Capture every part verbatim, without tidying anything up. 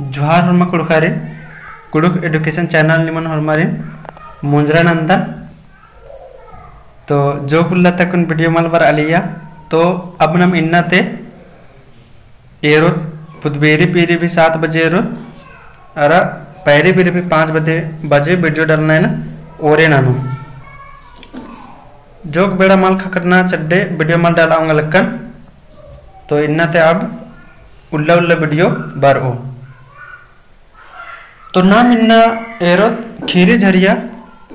जोहार होरमा कुँड़ुख़ारिन, कुँड़ुख़ education channel निमन होरमारिन मोंजरा नंदन। तो जोक उल्ला ता अक्कुन video मल बरआ लिया, तो अब नम इन्ना ते एरोत, पुदबेरी पीरी भी सात बजे एरोत, अरा पैरी पीरी भी पाँच बजे, बजे video डालना है ना, ओरे नानू। जोक बेड़ा मल ख़क्खरना चड्डे video मल डाला ओंगा लक्कन, तो इन्ना ते अब उल्ला उल्ला video बरओ। तो नाम इन्ना एरोत खीरी झरिया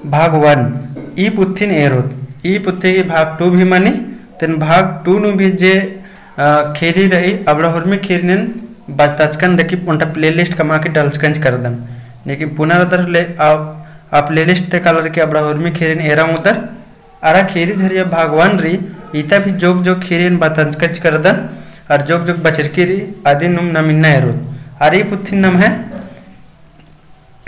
भाग one, ई पुथिन एरोत। ई पुथी की भाग two भी मनी, तेन भाग two नू भी जे, अ, खीरी रई, अबड़ा होरमी खीरी नेन बचताचकन देखी ओन्टा playlist कमआ की डालचकन चिकरदन। लेकिन पुना रअदर ले आ, आ playlist ते कालर की अबड़ा होरमी खीरी नेन एरा ओंगदर। अरा खीरी झरिया भाग one रई, इता भी जोक जोक खीरी नेन बचताचकन चिकरदन, अरा जोक जोक बचरकी रई, अदिन नुम नाम इन्ना एरोत। अरा ई पुथिन नाम है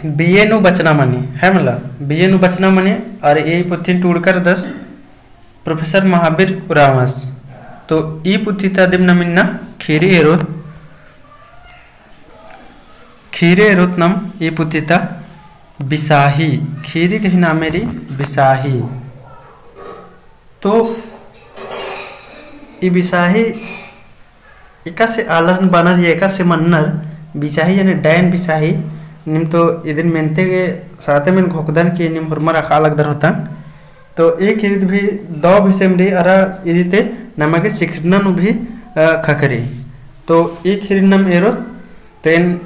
बीए नू बचना मनी, है मला, बीए नू बचना मनी, अरा ई पुथिन टूड़का रअदस Professor महावीर उराँवस। तो ई पुथी ता अदिम नाम इन्ना खीरी एरोत। खीरी एरोत नाम ई पुथी ता बिसाही, खीरी गही नामे रई बिसाही। तो ई बिसाही एकासे आलर बानर या एकासे मन्नर, बिसाही यानी डायन बिसाही, नीम तो इदिन मेनते गे साते मेन घोखदन कि नीम होरमर अख़आ लगदर होतन। तो ई खीरी ती भी दव भेसेम रई अरा इदी ते नमा गे सिखरना नू भी, अ, ख़क्खरई। तो ई खीरी नाम एरोत, तो एन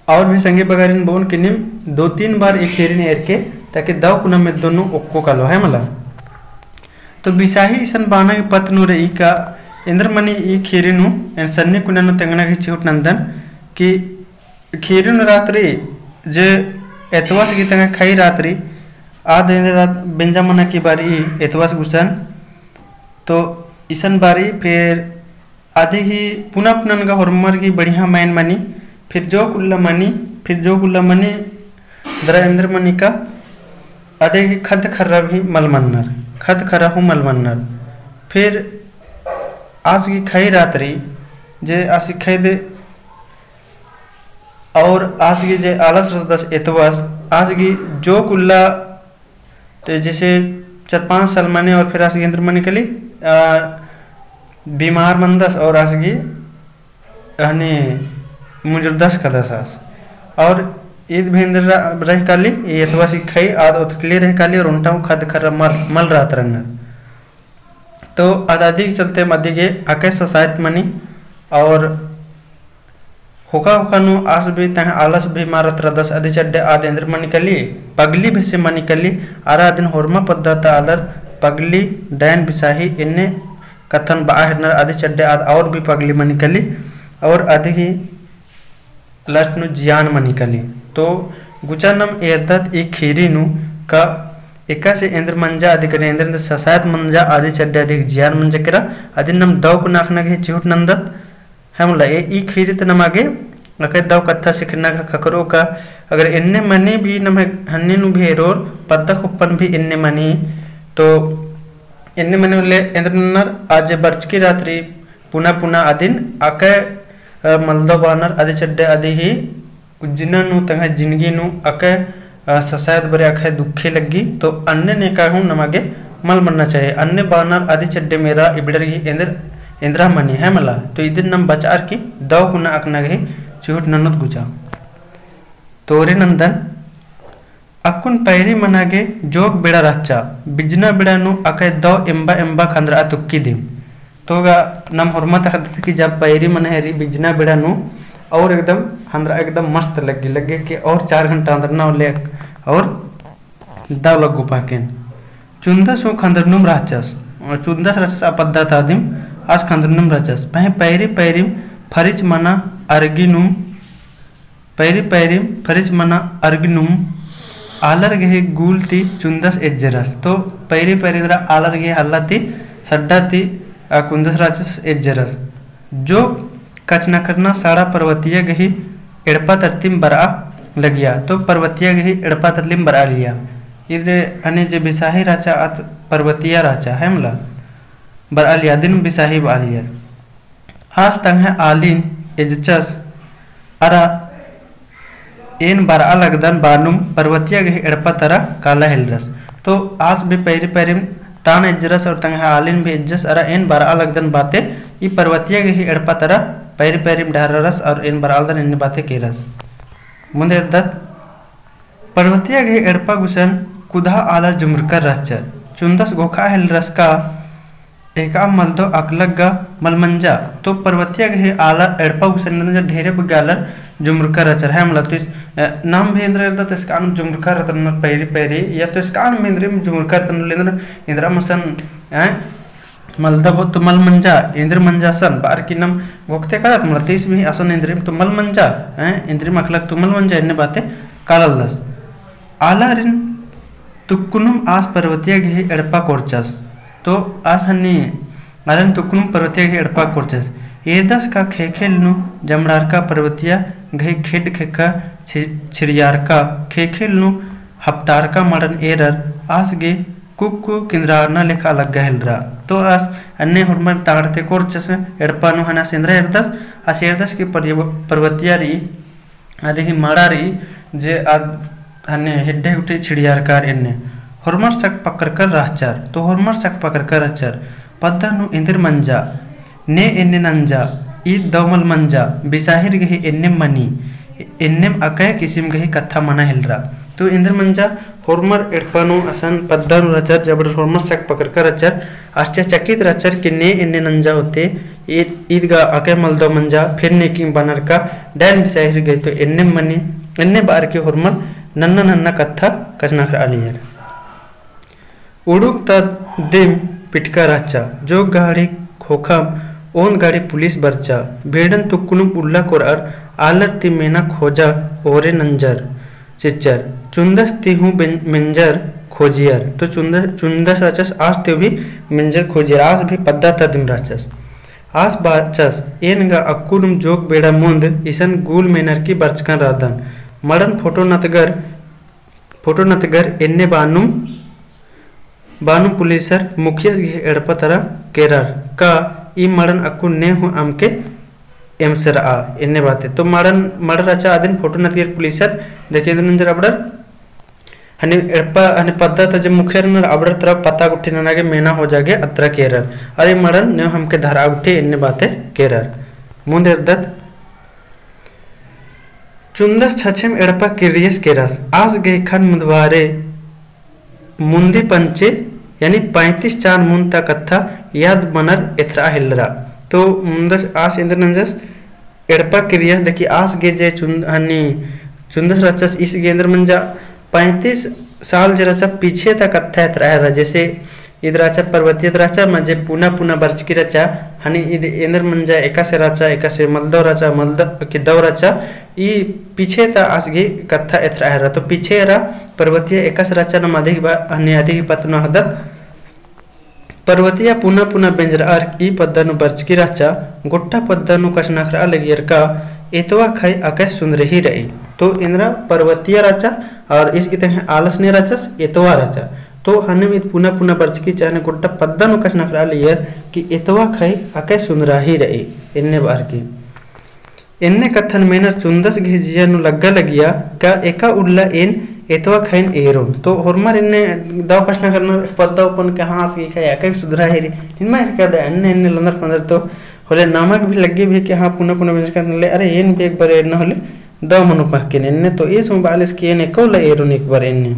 और भी संगी बगारिन बओन कि नीम दो तीन बार ई खीरी नेन एरके, ताकि दव कुना मेद्दो नू ओक्को कालो, है मला। तो बिसाही इसन बाना गे पत्त नू रई का एन्देर मनी ई खीरी नू, एन सन्नी कुना नू तेंगना गे चिहुट नंदन कि खीरी नू रातरी जे एतवास गही तंग्है खई रातरी, आद एन्देर रात बेंजा मना की बारी एतवास गुसन, तो इसन बारी फिर अदी गही पुना पुना नंगा होरमर गही बढ़िया मायन मनी, फिर जोक उल्ला मनी, फिर जोक उल्ला मनी दरा एन्देर मनी का, अदी गही खद्द खर्रा भी मल मन्नर, खद्द खर्रा हूँ मल मन्नर। फिर आस गही खई रातरी, जे आस गही खई दे और आस गही जे आलस रअदस एतवास, आस गही जोक उल्ला तो जैसे चार पाँच साल मनी और फिर आस गही एन्देर मनी कली, आ, बीमार मनदस और आस गही हनी मुंजुरदस कदस आस। और ईद भी एन्देर रह काली, ई एतवास गही खई आद ओथकली रह काली और ओन्टा हूँ खद्द खर्रा मल, मल रअदर रअनर। तो आद अदी गही चलते अदी गे अकय ससायत मनी और होखा होखा नू आस भी तंग्है आलस भी मारत रअदस अदी चड्डे आद एन्देर मनी कली, पगली भेसे मनी कली, अरा अदिन होरमा पद्दा ता आलर पगली, डायन बिसाही एन्ने कत्थन बआ हेलरनर अदी चड्डे आद और भी पगली मनी कली, और अदी गही last नू जियान मनी कली। तो गुचा नाम एरदत ई खीरी नू का एकासे एन्देर मंजा अदी केरा एन्देर एन्देर ससायत मंजा अदी चड्डे अदी जियान मंजा केरा, अदिन नाम दव कुना अख़ना गे चिहुट नंदत, है मला। ए ई खीरी ती नमा गे अकय दव कत्था सिखना गा ख़क्खरओ का, अगर एन्ने मनी भी नम्है हन्नी नू भी एरोर, पद्दा कुप्पन भी एन्ने मनी, तो एन्ने मनी उल्ले एन्देर नन्नर आद जे बरचकी रातरी पुना पुना अदिन अकय, अ, मलदव बानर अदी चड्डे अदी ही उज्जना नू तंग्है जिनगी नू अकय, अ, ससायत बरे अकय दुखे लग्गी, तो अन्ने नेका हूँ नमा गे मल मन्ना चाहिए। अन्ने बानर अदी चड्डे मेरा इबड़र गही एन्देर, एन्देरा मनी है मला। तो इदिन नाम बचअर की दव कुना अख़ना गे चिहुट ननोत गुचा। तो ओरे नंदन अक्कुन पैरी मना गे जोक बेड़ा रहचा, बिजना बेड़ा नू अकय दव एम्बा एम्बा खंदरआ तुक्की दिम। तो गा नम होरमा ता ख़द्दत कि जब पैरी मना हेरी बिजना बेड़ा नू और एकदम खंदरआ एकदम मस्त लग्गी, लग्गे कि और चार घंटा खंदरना होले और दव लग्गो पाकेन। चुन्दस हूँ खंदरनुम रहचस, चुन्दस रहचस आ पद्दा ता दिम आस खंदरनुम रहचस। पहें पैरी पैरिम फरिच मना अरगिनुम पैरी पैरिम फरिच मना अरगिनुम आलर गही गुल ती चुन्दस एज्जरस। तो पैरी पैरी दरा आलर गही हल्ला ती सड्डा ती आ कुन्दस रहचस एज्जरस। जो कचनखरना साड़ा पर्वतिया गही एड़पा तरतिम बरआ लगिया। तो पर्वतिया गही एड़पा तरतिम बरआ लिया। इदरे हने जे बिसाही रहचा आद पर्वतिया रहचा है मला। बरआ लिया दिन बिसाही बआ लिया। आस तंग्है आलिन एजचस, अरा एन बरआ लगदन बानुम पर्वतिया गही एड़पा तरा काला हेलरस। तो आस भी पैरी पैरिम तान इज्जरस और तंग्है आलिन भी इज्जस, अरा एन बरआ लगदन बाते ई पर्वतिया गही एड़पा तरा पैरी पैरिम डहररस और एन बरआ लगदन एन्ने बाते केरस। मुन्दे एरदत पर्वतिया गही एड़पा गुसन कुदहा आलर जुमरकर रहचर। चुन्दस घोखा हेलरस का एका मलदो अकलक गा मल मंजा। तो पर्वतिया गही आलर एड़पा गुसन एन्देर मंजा ढेरे बग्गे आलर जुमरकर रहचर है मला। तो इस, अ, नाम भी एन्देर एरदत, तो इसका नाम जुमरकर रहतन पैरी पैरी, या तो इसका नाम एन्देर जुमरकर रहतन लेंदर एन्देर मसन, हैं? मलदो तो मल मंजा, एन्देर मंजा असन, बार की नाम घोखते कालत मला, तो इस भी असन एन्देर तो मल मंजा, हैं? एन्देर अकलक तो मल मंजा, एन्ने बाते काललदस। आलारिन तुक्कुनुम आस पर्वतिया गही एड़पा कोरचस। तो आस हन्नी आलारिन तुक्कुनुम पर्वतिया गही एड़पा कोरचस। एरदस का ख़ेख़ेल नू जमड़ारका पर्वतिया गही खेड्ड ख़ेक्खा छि-, छिरियारका ख़ेख़ेल नू हपटारका मड़न एरर आस गे कुक्कु किंदरारना लेखा लग्गा हेलरा। तो आस अन्ने होरमर ताड़ते कोरचस एड़पा नू हना सेंदरा एरदस, आस एरदस की पर्य-, पर्वतिया रई अदिही मड़ा रई जे आद हन्ने हेड्डे गुट्ठी छिड़ियारकर एन्ने। होरमर सक पकरकर रहचर, तो होरमर सक पकरकर रहचर। पद्दा नू एन्देर मंजा, ने एन्ने नंजा, ईद दव मल मंजा, बिसाहिर गही एन्नेम मनी, एन्नेम अकय किसिम गही कत्था मना हेलरा। तो एन्देर मंजा होरमर एड़पा नू असन पद्दा नू रहचर, जबड़र होरमर सक पकरकर रहचर, आश्चर्यचकित रहचर कि ने एन्ने नंजा होते, ईद, ईद गा अकय मलदव मंजा, फिर ने किम बनर का डैन बिसाहिर गही तो एन्ने मनी, एन्ने बार के होरमर नन्ना नन्ना कत्था कछनखरआ लगियर। उड़ुक ता दिम पिटका रहचा, जो गाड़ी खोखम ओन्द गाड़ी पुलिस बरचा, भेड़न तुक्कुनुम उल्ला कोरअर आलर ती मेना खोजा ओरे नंजर चिच्चर, चुन्दस ती हूँ बेन-, मेंजर खोजियर, तो चुन्दस, चुन्दस रहचस आस ती भी मेंजर खोजियर, आस भी पद्दा ता दिम रहचस। आस बाचस, एन गा अक्कुनुम जोक बेड़ा मुन्द इसन गुल मेनर की बरचकन रअदन। मड़न फोटो नतगर, फोटो नतगर एन्ने बानुम, बानुम पुलिसर मुखियस गही एड़पा तरा केरर का ई मड़न अक्कुन ने हूँ अमके एमसरआ एन्ने बाते। तो मड़न, मड़र रहचा अदिन फोटो नतगर पुलिसर देखे एन्देर नंजर अबड़र हने एड़पा, हने पद्दा ता जे मुखियर नर अबड़र तरा पता गुट्ठी नना गे मेना हो जागे अतरा केरर। अरे मड़न ने हमके धरआ गुट्ठी एन्ने बाते केरर। मुन्द एरदत चुन्दस छछेम एड़पा किर्रियस केरस। आस गे ख़न्न मुन्दवारे मुन्दी पंचे, यानी पैंतीस चान मुन्द ता कत्था याद मनर एथरआ हेलरा। तो मुन्दस आस एन्देर नंजस एड़पा किर्रियस, देखी आस गे जे चुन-, हनी चुन्दस रहचस ईस गे एन्देर मंजा पैंतीस साल जे रहचा पीछे ता कत्था एथरआ हेलरा, जैसे ईद रहचा पर्वतिया ईद रहचा, मा जे पुना पुना बरचकी रहचा, हनी ईद एन्देर मंजा एकासे रहचा, एकासे मलदव रहचा, मलदव की दव रहचा, ई पीछे ता आस गे कत्था एथरआ हेलरा। तो पीछे एरा पर्वतिया एकासे रहचा नाम अदिही बा-, हनी अदिही पत्त नू अख़दत। पर्वतिया पुना पुना बेंजरअर ई पद्दा नू बरचकी रहचा, गोट्टा पद्दा नू कछनखरआ लगियर का एतवा खई अकय सुन्दरही रई। तो एन्देर पर्वतिया रहचा और ईस गे तंग्है आलस ने रहचस एतवा रहचा। तो हनेम ईद पुना पुना बरचकी रहचा हने गोट्टा पद्दा नू कछनखरआ लगियर कि एतवा खई अकय सुन्दरही रई एन्ने बार की। एन्ने कत्थन मेनर चुन्दस गही जिया नू लग्गा लगिया का एका उल्ला एन एतवा खईन एरोन। तो होरमर एन्ने दव कछनखरनर पद्दा अपन कहाँ आस गही खई अकय सुन्दरही रई। निमा एरका दा एन्ने एन्ने लंदर पंदर तो होले नमक भी लग्गी भी कि हाँ पुना पुना बेंजरका नले, अरे एन भी एक बार एरना होले दव मनो पहकेन एन्ने। तो ईस हूँ बालिस कि एन एका उल्ला एरोन एक बार एन्ने।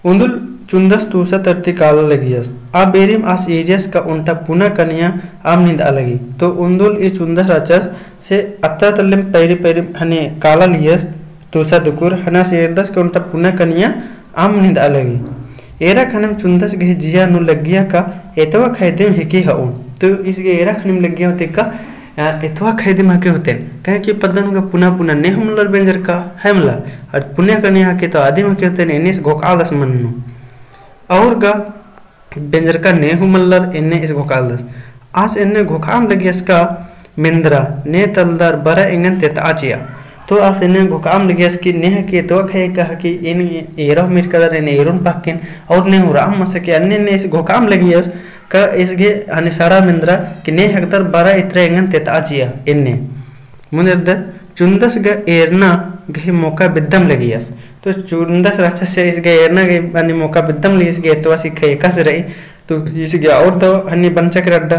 उन्दुल चुन्दस तूसा तरती काला लगियस। आ बेरिम आस एरियस का ओन्टा पुना कनिया अम्म निंदआ लगी। तो उन्दुल ई चुन्दस रहचस से अत्ता तल्लेम पैरी पैरी हने काला लियस तूसा दुकुर हना से एरदस का ओन्टा पुना कनिया अम्म निंदआ लगी। एरा खनेम चुन्दस गही जिया नू लग्गिया का एतवा खई दिम हेके हओन। तो ईस गे एरा खनेम लग्गिया होते का आ, एतवा खई दिम हके होतेन। काहे कि पद्दा नू गा पुना पुना ने हूँ मल्लर बेंजरका है मला। और पुना कनिया हके तो आदिम हके होतेन एन्ने ईस घोखआलदस मन नू। और गा बेंजरका ने हूँ मल्लर एन्ने ईस घोखआलदस। आस एन्ने घोखआम लगियस का मेंदरा ने तलदर बरा एंगन तेतआ चिआ। तो आस एन्ने घोखआम लगियस कि ने हके एतवा खई का हके एन एरा हूँ मिरकदर एन एरोन पहकेन और ने हूँ राम मसके अन्ने ने ईस घोखआम लगियस का ईस गे हने सड़ा मेंदरा कि ने हकदर बरा इतरा एंगन तेतआ चिआ एन्ने। मुन्द एरदत चुन्दस गा एरना गही मौका बिद्दम लगियस। तो चुन्दस रहचस से ईस गा एरना गही अन्ने मौका बिद्दम लगियस गा एतवासी ख़ेख़स रई। तो ईस गा और दव हन्नी बंचा केरा अड्डा।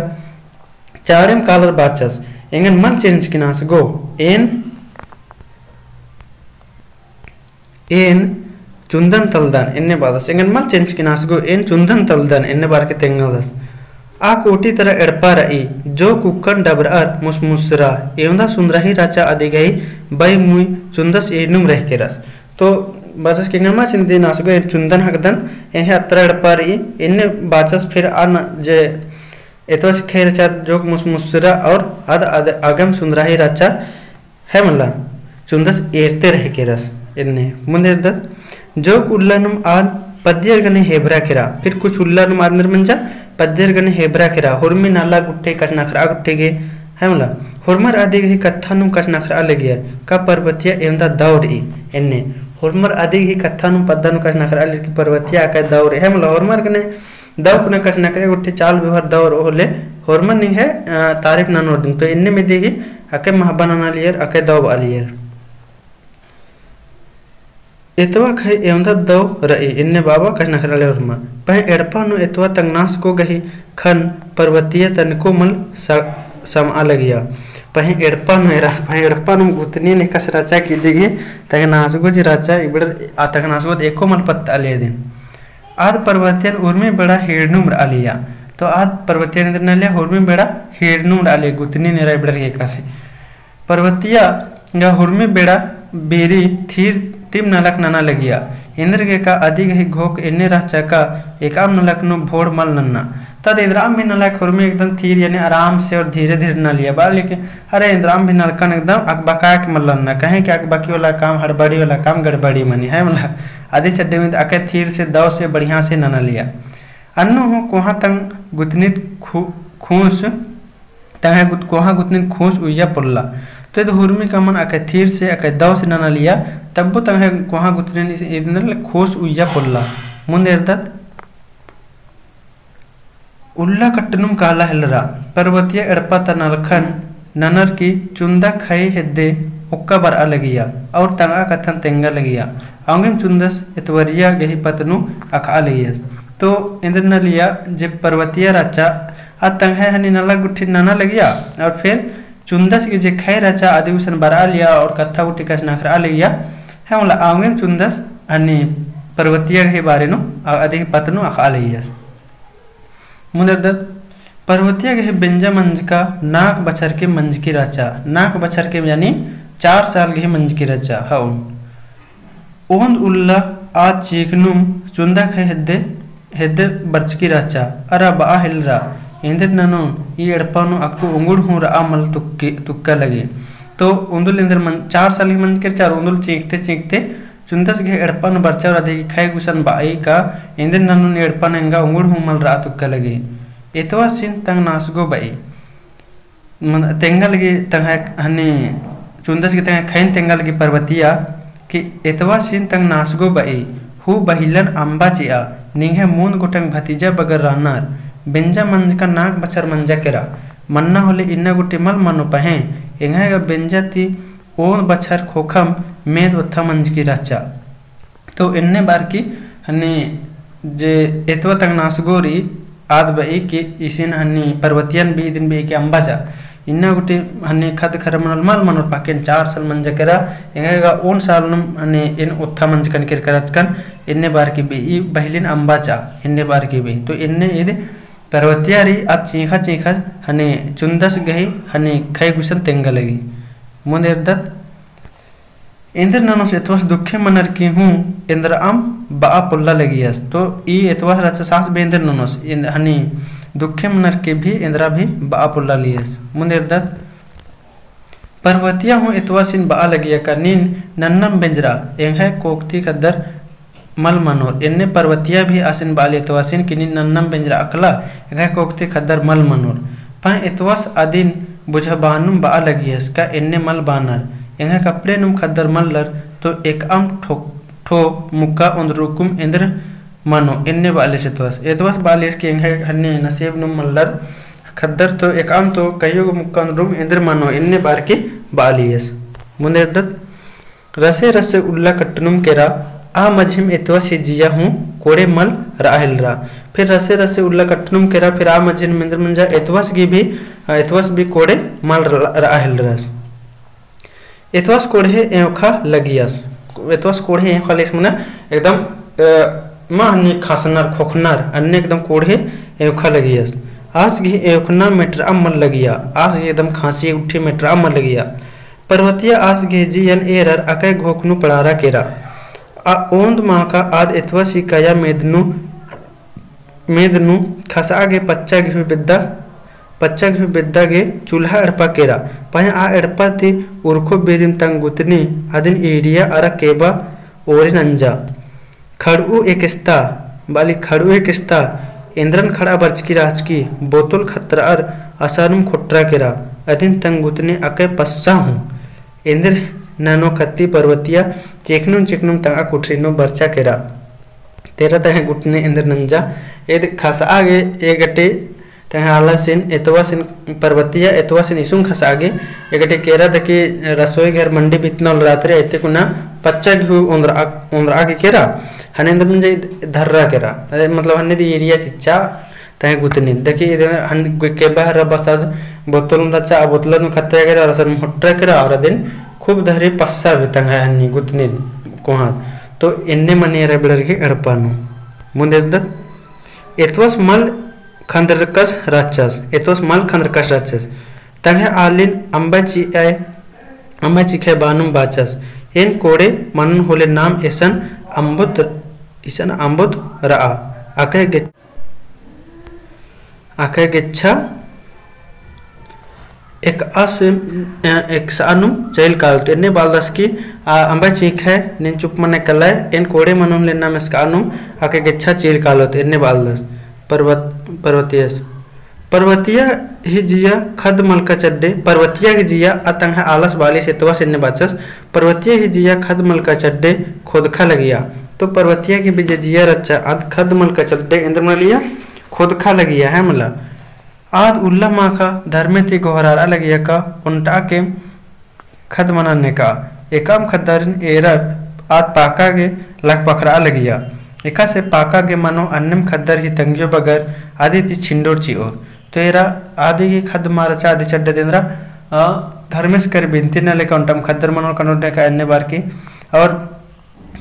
चाड़ेम कालर बाचस, एंगन मल चेंजकिनास गो, एन, एन चुन्दन तलदन, एन्ने बादस, एंगन मल चेंजकिनास गो, एन चुन्दन तलदन, एन्ने बारके तेंगदस। आ कोटी तरा एड़पा रई, जो कुक्कन डबरअर मुसमुसरा, एवंदा सुन्दराही राचा अदिगही बई मुई चुन्दस एनुम रहकेरस। तो बाचस के एंगन मल चेंजकिनास गो, एन चुन्दन हकदन, एन्ने अतरा एड़पा रई, एन्ने बाचस फिर आ न-, जे एतवासी ख़ेख़स रहचा जोक मुसमुसरा और आद, आद आगेम सुन्दराही रहचा है मला, चुन्दस एरते रहकेरस। एन्ने मुन्द एरदत, जोक उल्लानुम आद पद्दियर गने हेबरा केरा, फिर कुछ उल्लानुम आद एन्देर मंजा पद्दियर गने हेबरा केरा, होरमी नला गुट्ठी कछनखरआ गुट्ठी गे, है मला, होरमर अदिगही कत्थानुम कछनखरआ लगियर, का परबतिया एवंदा दौ रई, एन्ने, होरमर अदिगही कत्थानुम पद्दानुम कछनखरआ लगियर कि परबतिया अकय दौ रई, है मला, होरमर गने दौ कुना कछनखरआ गुट्ठी चाल बेवहार दौ रओ होले, होरमर निंग्है, अ, तारीफ ननोर दिम। तो एन्नेम इदिगही अकय महबा ननालियर, अकय दौ बआलियर। एतवा ख़ेख़स एवंदा दौ रई, एन्ने बआ बआ कछनखरआलियर होरमर। पहें एड़पा नू एतवा तंगनास गो गही ख़न्न परबतिया तनिको मल स-, समआ लगिया। पहें एड़पा नू एरा, पहें एड़पा नू गुतनी ने कस रहचा कि इदिगही तंगनास गो जे रहचा, इबड़र आ तंगनास गो एको मल पत्तआलिया दिम। आद परबतियन उर्मी बेड़ा हीड़नुम रआलिया। तो आद परबतियन एन्देर ननालिया, उर्मी बेड़ा हीड़नुम रआलिया, गुतनी ने एरा इबड़र ख़ेख़स। परबतिया गा उर्मी बेड़ा बीरी थीर तिम नलख नना लगिया। एन्देरगे का अदिगही घोख एन्ने रहचा का एकअम नलख नू भोड़ मल नन्ना। तद एन्दरअम भी नलख उर्मी एकदम थीर यानी आराम से और धीरे धीरे ननालिया। बआ लेकिन अरे एन्दरअम भी नलखन एकदम अकबकाय के मल नन्ना, कहें कि अकबकी वाला काम, हड़बड़ी वाला काम गड़बड़ी मनी, है मला। अदिस अड्डे में अकय थीर से, दौ से, बढ़िया से ननालिया। अन्नु हूँ कोहाँ तंग गुतनीत खू-, खूस, तंग्है गुत-, कोहाँ गुतनीत खूस उइया पोल्ला। तो इद उर्मी का मन अकय थीर से, अकय दौ से ननालिया, तब्बो तंग्है कोहाँ गुतनीन इस-, इदनल खूस उइया पोल्ला। मुन्द एरदत उल्ला कट्टनुम काला हेलरा, परबतिया एड़पा ता नलखन ननर की चुन्दा ख़ई हेद्दे ओक्का बरआ लगिया और तंगआ कत्थन तेंगा लगिया। औंगेम चुन्दस एतवरिया गही पत्त नू अख़आ लगियस। तो एन्देर ननालिया जे परबतिया रहचा, आ तंग्है हनी नला गुट्ठी नना लगिया और फिर चुन्दस गे जे ख़ई रहचा अदी गुसन बरआलिया और कत्था गुट्ठी कछनखरआ लगिया। है मला औंगेम चुन्दस हनी परबतिया गही बारे नू, आ, अदी गही पत्त नू अख़आ लगियस। मुन्द एरदत, परबतिया गही बेंजा मंजका नाक बछर के मंजकी रहचा। नाक बछर के यानी चार साल गही मंजकी रहचा। हओ। ओन्द उल्ला आ चींख़नुम चुन्दा ख़ई हेद्दे, हेद्दे बरचकी रहचा। अरा बआ हेलरा, एन्देर ननोन ई एड़पा नू अक्कु उंगुड़ हूँ रआ मल तुक्के, तुक्का लगे। तो ओन्दुल एन्देर मन, चार साल गही मंजकी रहचा, ओन्दुल चींख़ते चींख़ते चुन्दस गही एड़पा नू बरचा और अदी गही ख़ई गुसन बअई का एन्देर ननोन एड़पा नू एंगा उंगुड़ हूँ मल रआ तुक्का लगे। एतवासिन तंगनास गो बई। मन-, तेंगा लगी तंग्है हनी चुन्दस गे तंग्है ख़ईन तेंगा लगी परबतिया कि एतवासिन तंगनास गो बई, हूँ बहिलन अम्बा चिआ, निंग्है मूंद गोटंग भतीजा बगर रअनर, बेंजा मंजका नाक बछर मंजा केरा, मन्ना होले इन्ना गुट्ठी मल मनो पहें, एंग्है गा बेंजा ती ओन्द बछर ख़ोख़म मेद ओत्था मंजकी रहचा। तो एन्ने बारकी हनी जे एतवा तंगनास गो रई आद बई कि इसिन हनी परबतियन बई इदिन बई कि अम्बा चिआ। इन्ना गुट्ठी हनी ख़द्द ख़र्रा मनल मल मनोर पाकेन चार साल मंजा केरा, एंग्है गा ओन साल नुम हनी एन ओत्था मंजकन केरका रहचकन, एन्ने बारकी बई बहिलिन अम्बा चिआ, एन्ने बारकी बई। तो एन्ने इद परबतिया रई आद चींख़ा चींख़ा हनी चुन्दस गही हनी ख़ई गुसन तेंगा लगी। मुन्द एरदत एन्देर ननोस एतवास दुखे मनर की हूँ एन्दरअम बआ पोल्ला लगियस। तो ई एतवास रहचा सास बई एन्देर ननोस, एन-, हनी दुखे मनर की भी एन्दरा भी बआ पोल्ला लगियस। मुन्द एरदत परबतिया हूँ एतवासिन बआ लगिया का नीन नन्नम बेंजरा, एंग्है कोकती ख़द्दर मल मनोर। एन्ने परबतिया भी आसिन बआली एतवासिन कि नीन नन्नम बेंजरा अकला, एंग्है कोकती ख़द्दर मल मनोर। पहें एतवास अदिन बुझाबअनुम बआ लगियस का एन्ने मल बअनर। एंग्है कपड़े नुम ख़द्दर मल्लर तो एकअम ठो, ठो मुक्का ओन्द्रकुम एन्देर मनो, एन्ने बआलियस एतवास। एतवास बआलियस कि एंग्है हन्ने नसीब नुम मल्लर ख़द्दर तो एकअम तो कइयो गो मुक्का ओन्द्रकुम एन्देर मनो, एन्ने बारकी बालियस। मुन्देरदत रसे रसे उल्ला कट्टनुम केरा, आ मझिम एतवस ही जिया हूँ कोड़े मल रआ हेलरा। फिर रसे रसे उल्ला कट्टनुम केरा, फिर आ मझिम एन्देर मंजा एतवस गे भी, आ, एतवस भी कोड़े मल रआ हेलरस। एतवस कोड़हे एंवखा लगियस। एतवस कोड़हे एंवखा लगियस मने एकदम, अ, मा हन्नी खासनर, खोखनर, अन्ने एकदम कोड़हे एंवखा लगियस। आस गे एंवखना मेटरआ मल लगिया। आस गे एकदम खाँसी उठी मेटरआ मल लगिया। पर्वतिया आस गे जियन एरर अकय घोख नू पड़ारा केरा। आ ओन्द माखा आद एतवस ही कया मेद नू मेद नू खसआ गे पच्चा गे हूँ बेद्दा, पच्चा गे हूँ बेद्दा गे चूल्हा एड़पा केरा। पहें आ एड़पा ती उरखो बेरिम तंग गुतनी अदिन ईड़िया अरा केबा ओरे नंजा। खड़ऊ एकेस्ता, बाली खड़ऊ एकेस्ता, एन्देरन खड़आ बरचकी रहचकी, बोतल खतरअर असानुम खोटरा केरा, अदिन तंग गुतनी अकय पस्सा हूँ। एन्देर ननो खत्ती पर्वतिया चेखनुम चेखनुम तंगआ कोठरी नू बरचा केरा। तेरा तंग्है गुतनी एन्देर नंजा। एद खसआ गे ए गटे तंग्है आलसिन एतवासिन पर्वतिया एतवासिन इसुंग खसआ गे ए गटे केरा दकी रसोई घर मंडी बितना उलरात रे एते कुना पच्चा गे हूँ ओन्द्रआ, ओन्द्रआ गे केरा। हने एन्देर नंजा ईद धर्रा केरा। अरे मतलब हने दी ईड़िया चिच्चा तंग्है गुतनी। दकी इदे हन गे-, केबा हरा बसाद बोतल नू रहचा, आ बोतल नू खतरा केरा, अरा असन होटरा केरा, अरा अदिन खूब धरी पस्सा भी तंग्है हन्नी गुतनी कोहाँ। तो एन्ने मनी एरा बेड़र गे एड़पा नू। मुन्देरदत एतवस मल खंदरकस रहचस, एतवस मल खंदरकस रहचस। तंग्है आलिन अम्बा चिअय, अम्बा चिखय बानुम बाचस। एन कोड़े मनन होले नाम एसन अम्बुत, इसन अम्बुत रआ। अकय गे-, अकय गेच्छा एकअस, अ, एकसआनुम चइल कालोत। एन्ने बालदस की, आ, अम्बा चिखय, नीन चुप मने कलय, एन कोड़े मनन होले नाम एकसआनुम अकय गेच्छा चइल कालोत। एन्ने बालदस। पर्वत-, पर्वतियस। पर्वतिया ही जिया खद मलका चड्डे, पर्वतिया ही जिया आ तंग्है आलस बालिस एतवास एन्ने बाचस, पर्वतिया ही जिया खद मलका चड्डे खोदखा लगिया। तो पर्वतिया की भी जे जिया रहचा, आद खद मलका चड्डे एन्देर मना लगिया, खोदखा लगिया, है मला। आद उल्ला माखा धर्मे ती गोहरारआ लगिया का ओन्टा के खद्द मना नेका। एकअम खद्दरिन एरर आद पाका गे लख पखरआ लगिया। एकासे पाका गे मनो अन्नेम खद्दर ही तंग्यो बगर अदी ती छिंडोर चिओर। तो एरा अदी गे खद्द मा रहचा अदी चड्डे देंदरा, अ, धर्मेस कर बिनती नना लेका ओन्टम खद्दर मनोर कनोर नेका एन्ने बार की। और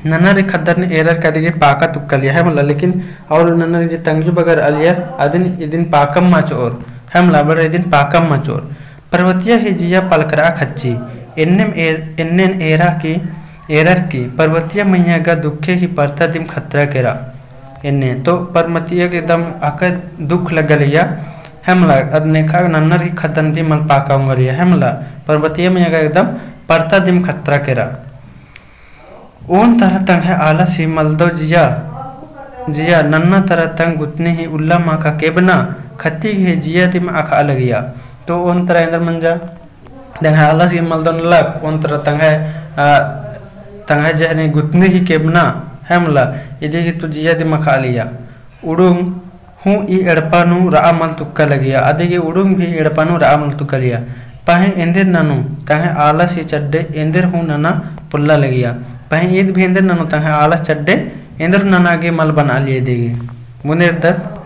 नन्नर ही खद्दरिन एरर का अदी गे पाका तुक्का लिया है मला, लेकिन और नन्नर ही जे तंग्यो बगर अलियर अदिन इदिन पाकम मा चिओर है मला, बड़र इदिन पाकम मा चिओर। पर्वतिया ही जिया पलकरआ खच्ची। एन्नेम एर-, एन्नेन एरा की, एरर की, पर्वतिया मइय्याँ गा दुखे ही परता दिम खतरा केरा। एन्ने तो पर्वतिया गे एकदम अकय दुख लग्गा लगिया, है मला, अद नेखा नन्नर ही खद्दन भी मल पाका ओंगा लगिया, है मला, पर्वतिया मइय्याँ गा एकदम परता दिम खतरा केरा। ओन तरा तंग्है आलस ही मलदव जिया, जिया नन्ना तरा तंग गुतनी ही उल्ला माखा केबना खत्ती गे जिया दिम अख़आ लगिया। तो ओन तरा एन्देर मंजा, तंग्है आलस ही मलदव नलख, ओन तरा तंग्है, आ, तंग्है जे हनी गुतनी ही केबना, है मला, इदी गे तो जिया दिम अख़आ लगिया। उड़ुंग हूँ ई एड़पा नू रआ मल तुक्का लगिया, अदी गे उड़ुंग भी एड़पा नू रआ मल तुक्का लगिया। पहें एन्देर ननू तंग्है आलस ही चड्डे एन्देर हूँ नना पोल्ला लगिया। पहें ईद भी एन्देर ननू तंग्है आलस चड्डे एन्देर नना गे मल बनआ लगिया इदी गे। मुन्देरदत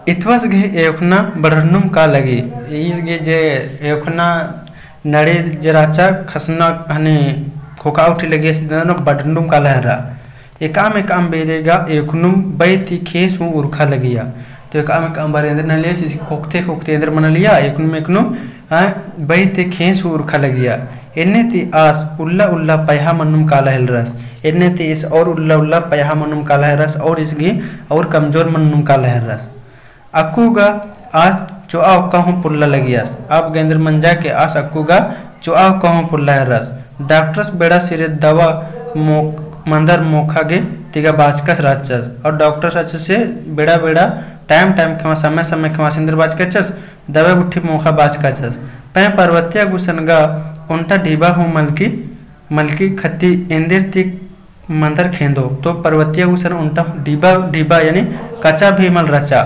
इतवस गे एवखना बढ़रनुम का लगी। ईस गे जे एवखना नड़ी जे रहचा खसना हनी खोखा उठी लगिया, इस दिन बढ़रनुम का लहरा। एकअम एकअम बेरे गा एवखनुम बई ती खेस हूँ उरखा लगिया। तो एकअम एकअम बार एन्देर नना लगिया, इसी खोखते खोखते एन्देर मना लगिया, एवखनुम एवखनुम, आ, बई ती खेस हूँ उरखा लगिया। एन्ने ती आस उल्ला उल्ला पयहा मन्नुम काला हेलरस। एन्ने ती इस और उल्ला उल्ला पयहा मन्नुम काला हेलरस और इस गे और कमजोर मन्नुम काला हेलरस। अक्कु गा आस चोआ ओक्का हूँ पोल्ला लगियस। अब गे एन्देर मंजा के आस अक्कु गा चोआ ओक्का हूँ पोल्ला हेलरस। डॉक्टरस बेड़ा सिरे दवा मो-, मंदर मोखा गे तिगा बाचकस रहचस। और डॉक्टरस रहचस से बेड़ा बेड़ा टाइम टाइम खेमा समय समय खेमा से एन्देर बाचकस दवा गुट्ठी मोखा बाचकस। पहें पर्वतिया गुसन गा ओन्टा ढिबा हूँ मलकी, मलकी खत्ती एन्देर ती मंदर खेंदो। तो पर्वतिया गुसन ओन्टा ढिबा, ढिबा यानी कच्चा भी मल रहचा।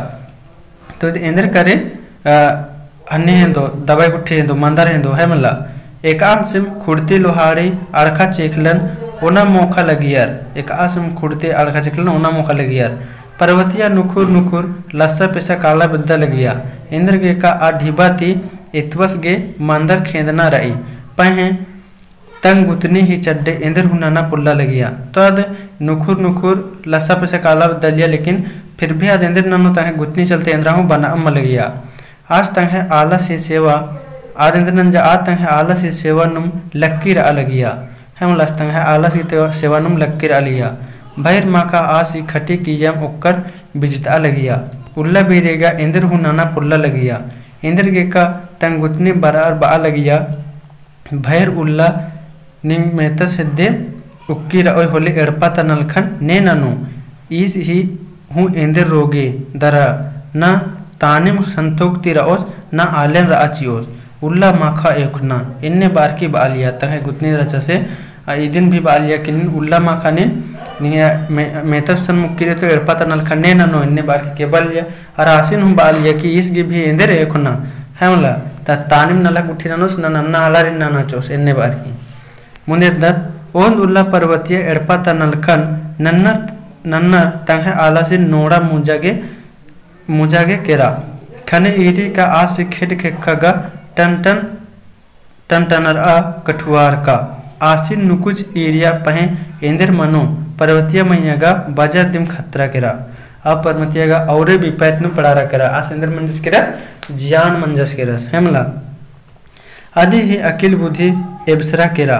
तो एन्देर करे, अ, हन्नी हेंदो, दवाई गुट्ठी हेंदो, मंदर हेंदो, है मला। एकाम सिम खुड़ती लोहाड़ी अड़खा चेखलन ओना मोखा लगियर। एकाम सिम खुड़ती अड़खा चेखलन ओना मोखा लगियर। परवतिया नुखुर नुखुर लस्सा पेसा काला बेद्दा लगिया। एन्देर गे का आ ढिबा ती एतवस गे मंदर खेंदना रई। पहें तंग गुतनी ही चड्डे एन्देर हूँ नना पोल्ला लगिया। तो आद नुखुर नुखुर लस्सा पेसा काला बेद्दा लगिया, लेकिन फिर भी आद एन्देर ननो तंग्है गुतनी चलते एन्दरा हूँ बना अम्म लगिया। आस तंग्है आलस ही सेवा, आद एन्देर नंजा आद तंग्है आलस ही सेवा नुम लक्की रआ लगिया। है मला, आस तंग्है आलस ही सेवा नुम लक्की रआ लगिया। भइर माखा आस ही खटी कियम ओक्कर बिजतआ लगिया। उल्ला बीरी गा एन्देर हूँ नना पोल्ला लगिया। एन्देर गे का तंग गुतनी बरअर बआ लगिया। भइर उल्ला निंग मेतस हेद्दे उक्की रओय होले एड़पा ता नलखन ने ननो। ईस ही हूँ एन्देर रोगे दरा ना तानिम संतोक ती रओस ना आलेन रआ चिओस। उल्ला माखा एवखना एन्ने बारकी बआ लिया तंग्है गुतनी रहचा से, आ इदिन भी बआ लिया कि निन उल्ला माखा निन निंग्है मे-, मेतस सन मुक्की रई तो एड़पा ता नलखन ने ननो एन्ने बारकी के बआ लिया। अरा आसिन हूँ बआ लिया कि ईस गे भी एन्देर एवखना, है मला, ता तानिम नलख गुट्ठी ननोस ना नन्ना आलारिन नना चिओस एन्ने बारकी। मुन्द एरदत ओन्द उल्ला परवतिया एड़पा ता नलखन नन्नर नन्नर तंग्है आलासिन नोड़ा मुजा गे मुजा गे केरा। खने ईरी का आस खेट खेक्खा गा टन टन टन टनरआ कठुआर का। आसिन नुकुच ईरिया पहें एन्देर मनो परवतिया मइय्याँ गा बजर दिम खतरा केरा। आ परवतिया गा औरे बिपैत नू पड़ारा केरा। आस एन्देर मंजस केरस, जियान मंजस केरस, है मला। अदी ही अकिल बुद्धि एबसरा केरा,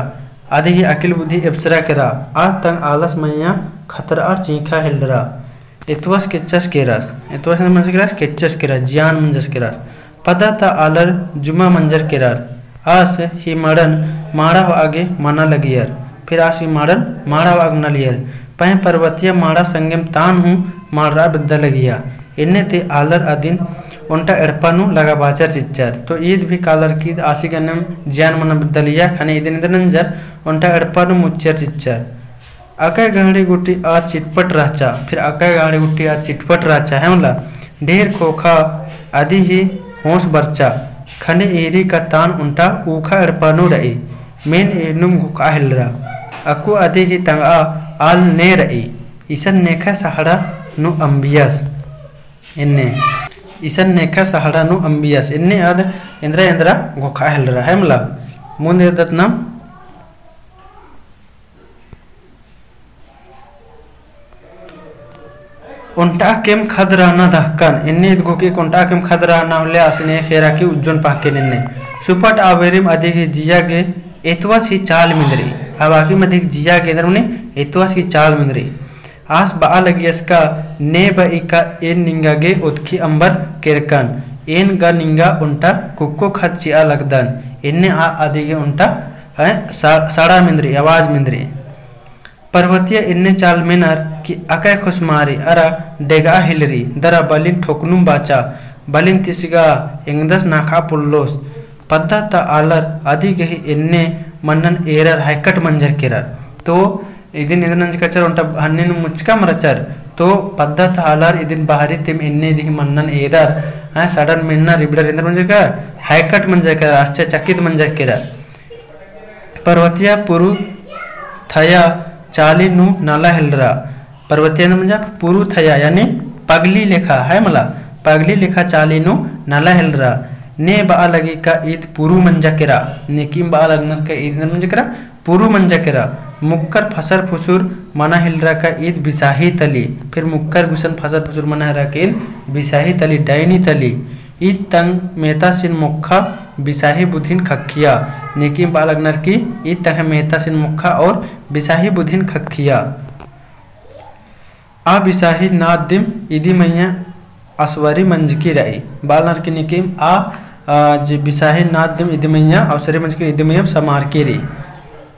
अदी ही अकिल बुद्धि एबसरा केरा, आ तंग आलस मइय्याँ खतरअर चींखा हेलरा। एतवस केच्चस केरस, एतवस मंजस केरस, केच्चस केरस, जियान मंजस केरस। पद्दा ता आलर जुमा मंजर केरर, आस ही मड़न माड़ा होआ गे मना लगियर, फिर आस ही मड़न माड़ा होआ गे नलियर। पहें परवतिया माड़ा संगेम तान हूँ माड़रआ बेद्दा लगिया। एन्ने ती आलर अदिन ओन्टा एड़पा नू लगा बाचर चिच्चर। तो ईद भी कालर की ईद आसी गनेम जियान मना बेद्दा लगिया, खने इदिन इदिन नंजर ओन्टा एड़पा नू मुच्चर चिच्चर। अकय गहड़ी गुट्ठी आ चिटपट रहचा, फिर अकय गहड़ी गुट्ठी आ चिटपट रहचा, है मला। ढेर खोखा अदी ही होंस बरचा, खने ईरी का तान ओन्टा ऊखा एड़पा नू रई। मेन ईरनुम घोखा हेलरा। अक्कु अदी ही तंगआ आल ने रई। इसन नेखा सहाड़ा नू अम्बियस। एन्ने। इसन नेखा सहाड़ा नू अम्बियस। एन्ने आद एन्दरा एन्दरा घोखा हेलरा, है मला। मुन्द एरदत नाम ओन्टा केम खद रहना दहकन। एन्ने ईद घोखा ओन्टा केम खद रहना होले आसिन खेरा की उज्जोन पाके निन्ने। सुपट आबेरिम अदी ही जिया गे एतवस ही चाल मेंदरी। अब आकी मदी जिया गे एन्दर मने एतवस ही चाल मेंदरी। आस बआ लगियस का ने बई का एन निंगा गे ओतखी अम्बर केरकन। एन गा निंगा ओन्टा कुक्को खद चिआ लगदन। एन्ने आ अदी गे ओन्टा, हैं, सा-, सड़ा मेंदरी, आवाज मेंदरी। परवतिया एन्ने चाल मेनर कि अकय खुसमारी अरा डेगआ हिलरी, दरा बलिन ठोकनुम बाचा, बलिन तिसगा एंगदस नाखा पुल्लोस। पद्दा ता आलर अदी गही एन्ने मन्नन एरर हायकट मंजर केरर। तो इदिन इदिन नंजकचर ओन्टा हन्ने नू मुचका मरचर। तो पद्दा ता आलर इदिन बहरी तिम एन्ने दिही मन्नन एरर, हाँ, सड़न मेन्ना रिबड़र एन्दर मंजर केरर, हायकट मंजर केरर, आश्चर्यचकित मंजर केरर। परवतिया पुरु थया चाली नू नला हेलरा। परवतिया नू मंजा पुरु थया, यानी पगली लेखा, है मला, पगली लेखा चाली नू नला हेलरा। ने बआ लगी का ईद पुरु मंजा केरा, नेकिम बआ लगनर का ईद मंजा केरा, पुरु मंजा केरा। मुक्कर फसर फुसुर मना हेलरा का ईद बिसाही तली, फिर मुक्कर गुसन फसर फुसुर मना हेलरा का ईद बिसाही तली, डाइनी तली। ईद तंग मेतासिन मोक्खा बिसाही बुधिन खक्खिया। नेकिम बआ लगनर की ईद तंग मेतासिन मोक्खा और बिसाही बुधिन खक्खिया। आ बिसाही नाद दिम इदी मइय्याँ असवरी मंजकी रई। बआ लगनर की नेकिम आ, आ, जे बिसाही नाद दिम इदी मइय्याँ असवरी मंजकी रई, इदी मइय्याँ समारकी रई।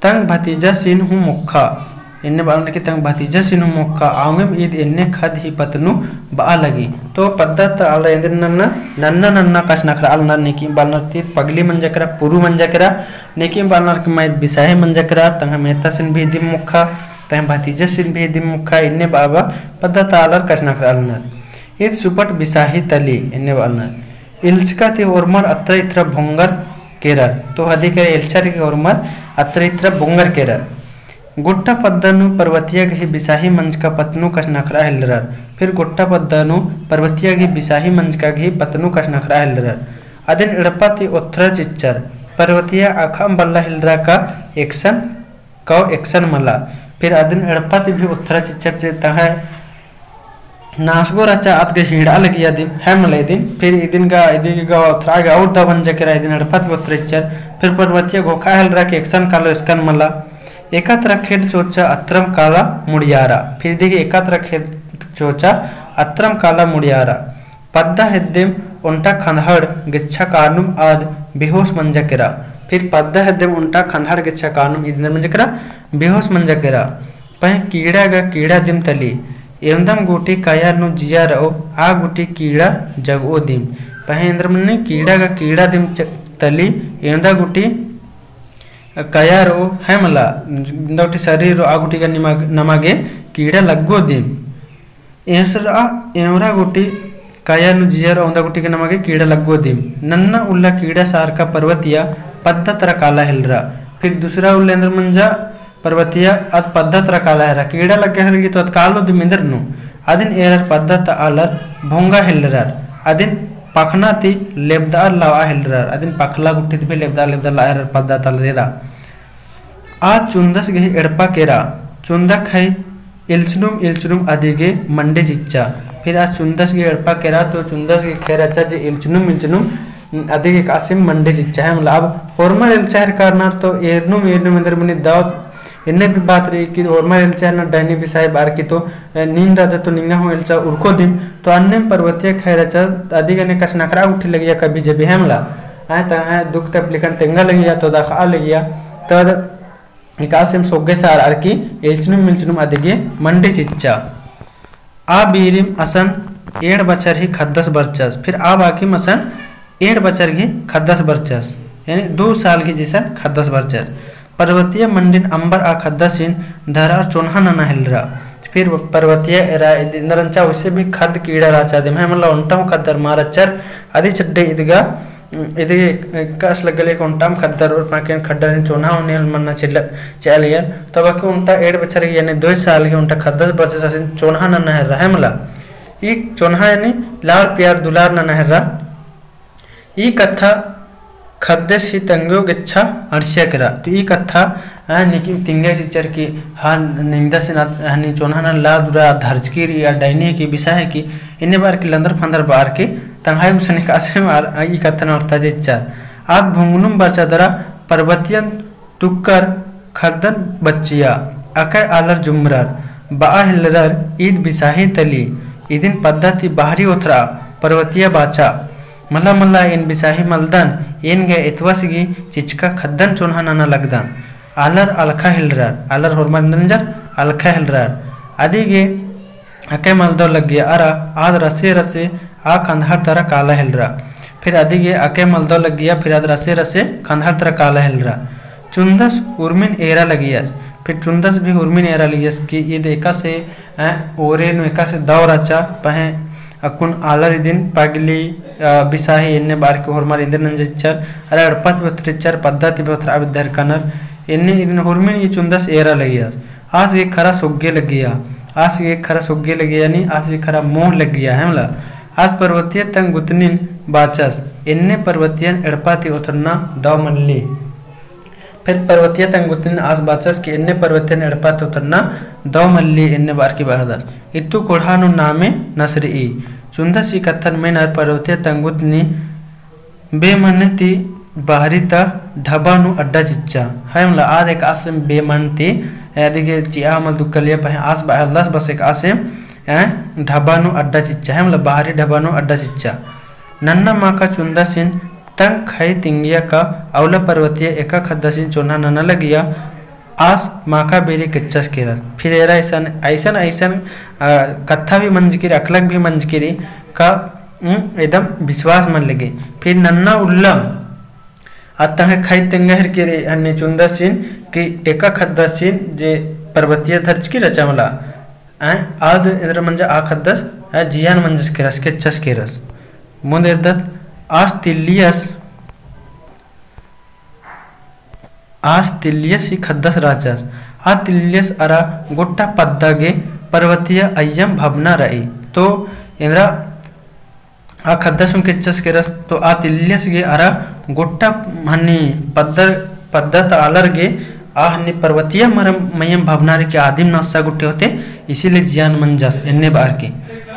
तंग भतीजासिन हूँ मोक्खा। एन्ने बआ लगनर की तंग भतीजासिन हूँ मोक्खा, औंगेम ईद एन्ने खद ही पतनु बआ लगी। तो पद्दा ता आलर एन्देर नन्ना, नन्ना नन्ना कछनखरआ लगनर, नेकिम बआ लगनर ती पगली मंजा केरा, पुरु मंजा केरा, नेकिम बआ लगनर की मा ईद बिसाही मंजा केरा, तंग्है मेतासिन भी इदिम मोक्खा, तंग्है भतीजासिन भी इदिम मोक्खा, एन्ने बआ बआ पद्दा ता आलर कछनखरआ लगनर। ईद सुपट बिसाही तली, एन्ने बआ लगनर। इल्चका ती ओर्मर अत्रा इत्रा भोंगर केरर। तो हदी केरा एल्चर की ओर्मर अत्रा इत्रा भोंगर केरर। गोट्टा पद्दा नू परवतिया गही बिसाही मंजका पत्तनू कछनखरआ हेलरर। फिर गोट्टा पद्दा नू परवतिया गही बिसाही मंजका गही पत्तनू कछनखरआ हेलरर। अदिन एड़पा ती ओथरा चिच्चर। परवतिया अख़अम बल्ला हेलरा का एकसन कौ एकसन मला। फिर अदिन एड़पा ती भी ओथरा चिच्चर जे तंग्है नासगो रहचा आद गा हिंड़आ लगिया दिम, है मला इदिन। फिर इदिन गा, इदी गा ओथरा गा और दव मंजा केरा, इदिन एड़पा ती ओथरा चिच्चर। फिर परवतिया घोखआ हेलरा कि एकसन कालो एकसन मला। एका तरा खेड्ड चोचा अत्रम काला मुड़ियारा। फिर इदी गा एका तरा खेड्ड चोचा अत्रम काला मुड़ियारा। पद्दा हेद्देम ओन्टा खंदहड़ गेच्छा कानुम आद बेहोस मंजा केरा। फिर पद्दा हेद्देम ओन्टा खंदहड़ गेच्छा कानुम इदिन मंजा केरा, बेहोस मंजा केरा। पहें कीड़ा गा कीड़ा दिम तली, एवंदम गूटी कया नू जिया रओ, आ गूटी कीड़ा जगओ दिम। पहें एन्देर मनी कीड़ा गा कीड़ा दिम च-, तली, एवंदा गूटी कया रओ, है मला, एवंदा गूटी शरीर रओ, आ गूटी गा निमा-, नमा गे कीड़ा लग्गो दिम। एसरा एवरा गूटी कया नू जिया रओ, ओन्दा गूटी गा नमा गे कीड़ा लग्गो दिम। नन्ना उल्ला कीड़ा सारका परवतिया पद्दा तरा काला हेलरा। फिर दूसरा उल्ला एन्देर मंजा परवतिया आद पद्दा तरा काला हेलरा। कीड़ा लग्गा हेलरा की तो आद कालो दिम एन्देर नू। अदिन एरर पद्दा ता आलर भोंगा हेलरर। अदिन पखना ती लेबदआ लावा हेलरर। अदिन पखला गूटी ती भी लेबदआ लेबदआ लावा हेलरर पद्दा ता आलर एरा। आद चुन्दस गही एड़पा केरा, चुन्दा खई इल्चनुम इल्चनुम अदिगे मंडे चिच्चा। फिर आद चुन्दस गही एड़पा केरा तो चुन्दस गही खेर रहचा जे इल्चनुम इल्चनुम अदिगे एकासेम मंडे चिच्चा है। मतलब अब होरमर एल्चा हेलरनर तो एरनुम एरनुम एन्देर मनी दव एन्ने भी बात रई कि होरमर एल्चा हेलरनर डैनी बिसाही बअर की तो नीन रअदत तो निंगा हूँ एल्चा उरखो दिम। तो अन्नेम परवतिया खई रहचा अदिगे ने कछनखरआ गूटी लगिया कभी जभी है मला। आय तंग्है दुख तकलीफन तेंगा लगिया तो दखआ लगिया। तो एकासेम सोग्गे सारअर की इल्चनुम इल्चनुम अदिगे मंडे चिच्चा। आ बीरिम असन एंड़ बछर ही खद्दस बरचस। फिर आ बाकिम असन एंड़ बछर गही खद्दस बरचस, यानी दो साल गही जिसन खद्दस बरचस। परवतिया मंडिन अम्बर आ खद्दसिन धरअर चोन्हा नना हेलरा। फिर परवतिया एरा इद-, एन्देर रहचा उसे भी खद्द कीड़ा रहचा दिम है, मतलब ओन्टा हूँ खद्दर मार रहचर, अदी चड्डे इदगा, इदगे एकासे लग्गा लगिया ओन्टाम खद्दर और पाकेन खद्दर चोन्हा होने मन्ना चिल्ला, चल गया। तब अक्के ओन्टा एंड़ बछर गही, यानी दो साल गही ओन्टा खद्दस बरचस असन चोन्हा नना हेलरा है मला। ई चोन्हा यानी लाड़ प्यार दुलार नना हेलरा। ई कत्था खद्दस ही तंग्यो गेच्छा अंड़सिया केरा। तो ई कत्था, आ, निकिम तिंग्या चिच्चर की, हाँ, निंगदसिन आद, हनी चोन्हा नना लाद उरा धरचकी रई, आ डैनी है की, बिसाही है की, एन्ने बअर की लंदर फंदर बअर की, तंग्है गुसन एकासेम आर, आ, ई कत्थन अर्थआ चिच्चर। आद भोंगनुम बरचा दरा परबतियन तुक्कर खद्दन बच्चिया, अकय आलर जुमरर, बआ हेलरर ईद बिसाही तली, इदिन पद्दा ती बाहरी ओथरा, परवतिया बाचा, मला मला एन बिसाही मलदन, एन गे एतवस गही चिचका खद्दन चोन्हा नना लगदन। आलर अलखा हेलरर, आलर होरमर एन्देर नंजर अलखा हेलरर। अदिगे अकय मलदव लग्गिया अरा आद रसे रसे आ खंदहर तरा काला हेलरा। फिर अदिगे अकय मलदव लग्गिया फिर आद रसे रसे खंदहर तरा काला हेलरा। चुन्दस उर्मिन एरा लगियस। फिर चुन्दस भी उर्मिन एरा लगियस कि ईद एकासे, अ, ओरे नू एकासे दव रहचा, पहें अक्कुन आलर इदिन पगली, अ, बिसाही एन्ने बअर की होरमर एन्देर नंजर चिच्चर, अरा एड़पा ती भी ओथरा चिच्चर, पद्दा ती भी ओथरा अबे दरकनर, एन्ने इदिन उर्मिन ई चुन्दस एरा लगियस। आस गे खरा सोग्गे लग्गिया, आस गे खरा सोग्गे लग्गिया, यानी आस गे खरा मोह लग्गिया, है मला। आस परबतिया तंग गुतनिन बाचस, एन्ने परबतियन एड़पा ती ओथरना दव मल्ली। फिर परबतिया तंग गुतनिन आस बाचस कि एन्ने परबतियन एड़पा ती ओथरना दव मल्ली, एन्ने बअर की बअदस। इत्तु कोड़हा नू नामे नसरई। चुन्दस ई कत्थन मेनर परबतिया तंग गुतनी बेमन ती बाहरी ता ढबा नू अड्डा चिच्चा। है मला आद एकासेम बेमन ती, अदिगे चिआ मल दुक्कलिया पहें आस बअलदस बस एकासेम, ए, ढबा नू अड्डा चिच्चा। है मला बाहरी ढबा नू अड्डा चिच्चा। नन्ना माका चुन्दसिन तंग खई तिंगिया का अउला परबतिया एका खद्दसिन चोन्हा नना लगिया। आस माका बेरी केच्चस केरस। फिर एरा अइसन, अइसन, अइसन, अ, कत्था भी मंजकी रई, अकलक भी मंजकी रई, का, उम, एकदम विश्वास मल लग्गी। फिर नन्ना उल्लम, आद तंग्है खई तेंगा हेलरकी रई, हन्नी चुन्दसिन, कि एका खद्दसिन जे परबतिया धरचकी रहचा मला, आय, आद एन्देर मंजा आ खद्दस, आय, जियान मंजस केरस, केच्चस केरस। मुन्द एरदत, आस तिल्लियस, आस तिल्लियस ही ख़द्दस रहचस। आ तिल्लियस अरा गोट्टा पद्दा गे पर्वतिया अइयम भबना रई। तो एन्दरा आ ख़द्दस हूँ केच्चस केरस, तो आ तिल्लियस गे अरा गोट्टा हन्नी पद्दा, पद्दा ता आलर गे आ हन्नी पर्वतिया मरम मइयम भबना रई कि आदिम नस्सा गुट्ठी होते, इसीलिए जियान मंजस एन्ने बअर की।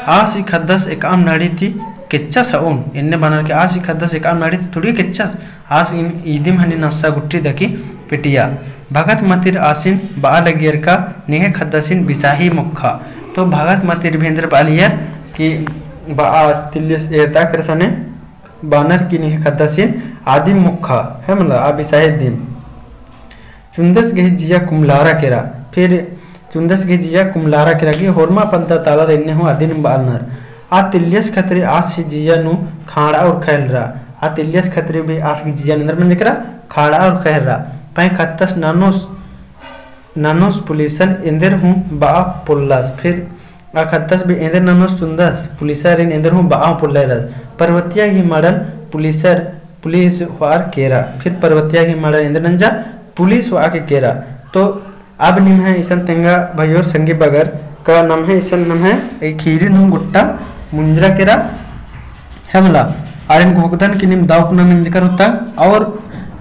आस ही ख़द्दस एकअम नड़ी ती केच्चस हूँ, एन्ने बअनर की आस ही ख़द्दस एकअम नड़ी ती थोड़ी केच्चस, आस इन इदिम हन्नी नस्सा गुट्ठी दकी पेटिया। भगत मतिर आसिन बआ लगियर का निंग्है ख़द्दसिन बिसाही मोख़ा। तो भगत मतिर भी एन्देर बआलियर कि बआ आस तिल्लियस एरता केरसने बअनर कि निंग्है ख़द्दसिन आदिम मोख़ा, है मला, आ बिसाही दिम। चुन्दस गही जिया कुमलारा केरा, फिर चुन्दस गही जिया कुमलारा केरा कि होरमा पद्दा ता आलर एन्ने हूँ अदिन बअनर। आ तिल्लियस खतरी आस ही जिया नू खाड़ा उरखा हेलरा। आ तिल्लियस खतरी भी आस गही जिया नू एन्देर मंजकरा खाड़ा उरखा हेलरा। पहें ख़द्दस ननोस, ननोस पुलिसन एन्देर हूँ बआ पोल्लस। फिर आ ख़द्दस भी एन्देर ननोस चुन्दस पुलिसरिन एन्देर हूँ बआ पोल्लरस। पर्वतिया गही मड़न पुलिसर, पुलिस होअर केरा। फिर पर्वतिया गही मड़न एन्देर नंजा पुलिस होआ के केरा। तो अब निम्है इसन तेंगा भइयोर संगी बगर का नम्है इसन नम्है ई खीरी नू गोट्टा मुंजरा केरा, है मला, आरिन घोखदन कि नीम दव कुना मेंजकर होता, और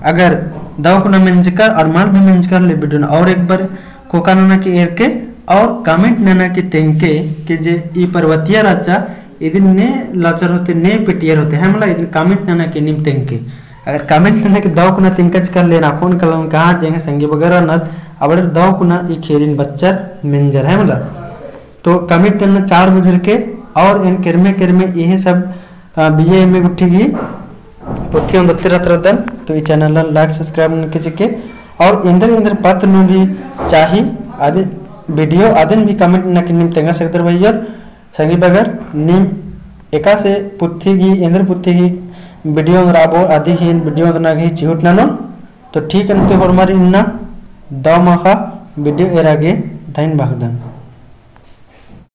अगर दव कुना मेंजकर और मल भी मेंजकर ले video नू और एक बार कोका नना की एरके और comment नना की तेंगके कि जे ई पर्वतिया रहचा इदिन ने लौचर होते, ने पेटियर होते, है मला, इदिन comment नना की नीम तेंगके। अगर comment नना की दव कुना तेंगकचकर ले ना फोन कलम कहाँ जेंगे संगी बगर नर अबड़र दव कुना ई खेरिन बच्चर मेंजर, है मला। तो comment नना चाड़ बुझुरके और एन केरमे केरमे इहे सब, अ, BA MA गुट्ठी गही पोथी ओन्दत्ती रहत रअदन। तो ई channel ला like subscribe ननके चिके और एन्देर एन्देर पत्त नू भी चाही आदि video अदिन भी comment नना की नीम तेंगा सकदर भइयोर संगी बगर। नीम एकासे पोथी गही, एन्देर पोथी गही video ओन्दरबओ अदी ही video ओन्दरना गही चिहुट ननोन। तो ठीक अन्ते होरमर इन्ना दव माख़ा video एरा गे धइन बअदन।